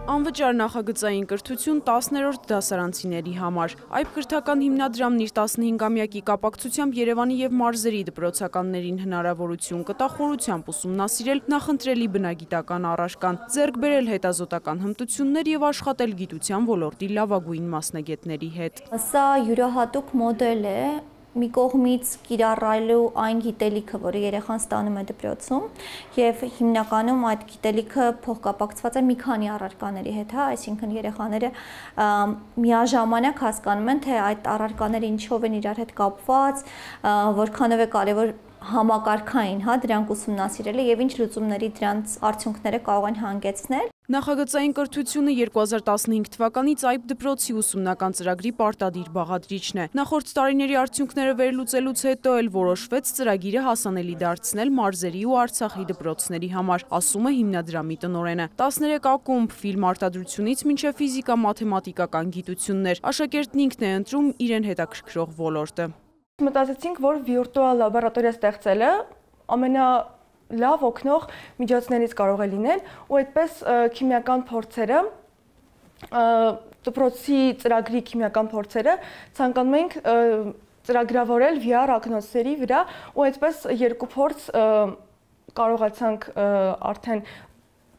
Անվճար նախագծային կրթություն 10-րդ դասարանցիների համար։ Այբ կրթական հիմնադրամն իր 15-ամյակի կապակցությամբ Երևանի և մարզերի դպրոցականներին հնարավորություն կտա խորությամբ ուսումնասիրել նախընտրելի բնագիտական առարկան, ձեռք բերել հետազոտական հմտություններ և աշխատել գիտության ոլորտի լավագույն մասնագետների հետ։ Սա յուրահատուկ մոդել է, մի կողմից կիրառելու այն գիտելիքը, որը երեխան ստանում է դպրոցում, եւ հիմնականում այդ գիտելիքը փոխկապակցված է մի քանի առարկաների հետ, այսինքն երեխաները միաժամանակ հասկանում են, թե այդ առարկաները ինչով են իրար հետ կապված, որքանով է կարևոր համակարգային, դրանք ուսումնասիրելը եւ ինչ լուծումների դրանց արդյունքները կարող են հանգեցնել։ Նախագծային կրթությունը 2015 թվականից այբ դպրոցի ուսումնական ծրագրի պարտադիր բաղադրիչն է։ Նախորդ տարիների արդյունքները վերլուծելուց հետո էլ որոշվեց ծրագիրը հասանելի դարձնել մարզերի ու Արցախի դպրոցների համար, ասում է հիմնադրամի տնօրենը։ 13 ակումբ ֆիլմարտադրությունից մինչև ֆիզիկա-մաթեմատիկական գիտություններ։ Աշակերտն ինքն է ընտրում իրեն հետաքրքրող ոլորտը։ Մտածեցինք, որ վիրտուալ լաբորատորիա ստեղծելը ամենալավ օգնող միջոցներից կարող է լինել, ու այդպես քիմիական փորձերը, դպրոցի ծրագրի քիմիական փորձերը ցանկանում ենք ծրագրավորել VR ակնոցների վրա, ու այդպես երկու փորձ կարողացանք արդեն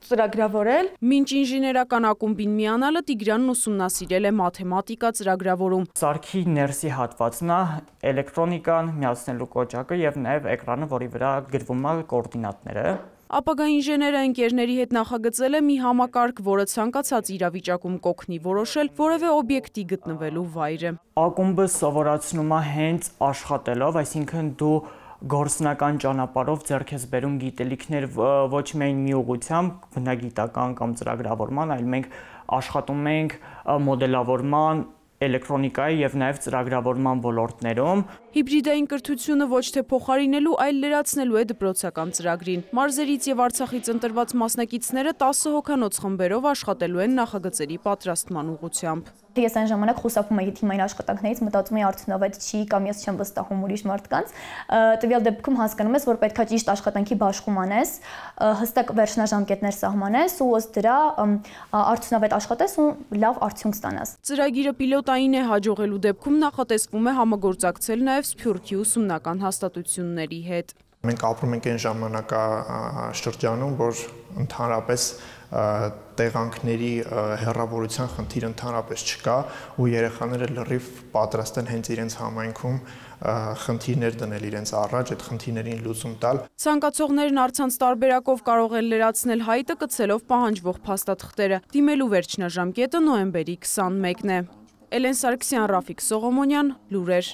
ծրագրավորել։ Մինչ ինժեներական ակումբին միանալը Տիգրանն ուսումնասիրել է մաթեմատիկա ծրագրավորում։ Սարքի ներսի հատվածն է էլեկտրոնիկան, միացնելու կոճակը եւ նաեւ էկրանը, որի վրա գրվում է կոորդինատները։ Ապագա ինժեները ընկերների հետ նախագծել է մի համակարգ, որը ցանկացած իրավիճակում կօգնի որոշել որևէ օբյեկտի գտնվելու վայրը։ Ակումբը սովորացնում է հենց աշխատելով, այսինքն դու գործնական ճանապարհով ձեռք ես բերում գիտելիքներ ոչ միայն մի ուղղությամբ բնագիտական կամ ծրագրավորման, այլ մենք աշխատում ենք մոդելավորման, էլեկտրոնիկայի եւ նաեւ ծրագրավորման ոլորտներում։ Հիբրիդային կրթությունը ոչ թե փոխարինելու, այլ լրացնելու է դպրոցական ծրագրին։ Մարզերից եւ Արցախից ընտրված մասնակիցները 10 հոգանոց խմբերով աշխատելու են նախագծերի պատրաստման ուղղությամբ։ Ես այն ժամանակ խուսափում էի թիմային աշխատանքներից, մտածում էի արդյունավետ չի կամ ես չեմ վստահում ուրիշ մարդկանց։ Տվյալ դեպքում հասկանում ես, որ պետք է ճիշտ աշխատանքի բաշխում անես, հստակ վերջնաժամկետներ սահմանես ու ըստ դրա արդյունավետ աշխատես ու լավ արդյունք ստանաս։ Ծրագիրը պիլոտային է, հաջողելու դեպքում նախատեսվում է համագործակցել նաեւ Սփյուռքի ուսումնական հաստատությունների հետ։ Մենք ապրում ենք այն ժամանակաշրջանում, որ ընդհանրապես տեղանքների հեռավորության խնդիր ընդհանրապես չկա ու երեխաները լրիվ պատրաստ են հենց իրենց համայնքում խնդիրներ դնել իրենց առաջ, այդ խնդիրներին լուծում տալ։ Ցանկացողներն առցանց տարբերակով կարող են լրացնել հայտը կցելով պահանջվող փաստաթղթերը։ Դիմելու վերջնաժամկետը նոյեմբերի 21-ն է։ Էլեն Սարգսյան, Ռաֆիկ Սողոմոնյան, լուրեր։